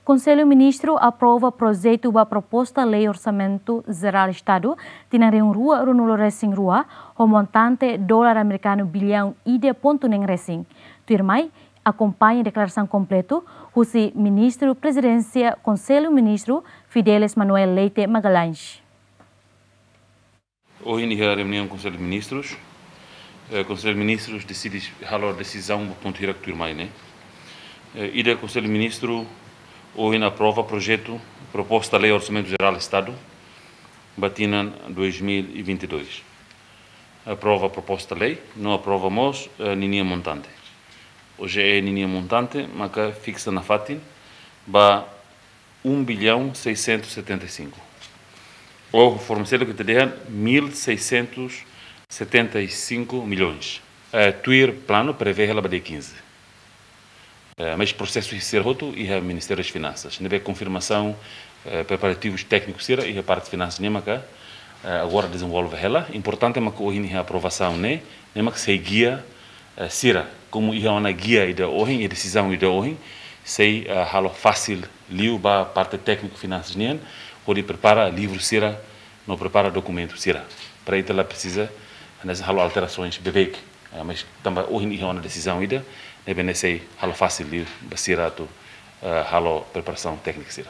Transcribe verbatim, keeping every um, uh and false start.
Konsellu Ministru aprova projetu ba proposta lei Orsamentu Jerál Estadu tinan rihun rua ruanulu resin rua, ho montante dolar amerikanu biliaun ida pontu neen resin. Tuirmai, akompaña deklarasaun kompletu husi Ministru Prezidénsia Konsellu Ministru, Fidelis Manuel Leite Magalhães. Ohin iha reuniaun Konsellu Ministrus, eh, Konsellu Ministrus deside halo desizaun ba pontu hirak tuirmai ne'e. Eh, ida, Konsellu Ministru ohin aprova projetu proposta lei Orsamentu Jerál Estadu ba tinan dois mil e vinte e dois. Aprova proposta lei, no aprova mós, eh, ninia montante. Ohin ninia montante maka fiksa nafatin ba um bilhão seiscentos e setenta e cinco. Ou forma seluk ita dehan mil seiscentos e setenta e cinco milhões. Eh, tuir planu prevee hela ba dia quinze. Eh, mas prosesu sira hotu iha Ministériu Finansas. Ne'ebé konfirmasaun, eh, preparativus téknikus sira iha parte finansas ne'e maka, eh, agora dezenvolve hela. Importante maka ohin iha aprovasaun ne'e, ne'e maka sei gia, eh, sira. Komu iha ona gia ida ohin, iha desizaun ida ohin, sei, eh, halo fasil liu ba parte tékniku finansas nian, hodi prepara livru sira, no prepara dokumentu sira. Para ita la presiza, hanesan halo alterasoens beibeik. Eh, mas tanba ohin iha ona desizaun ida, ne'ebé ne'e sei halo fasil liu ba sira atu, eh, halo preparasaun téknika sira.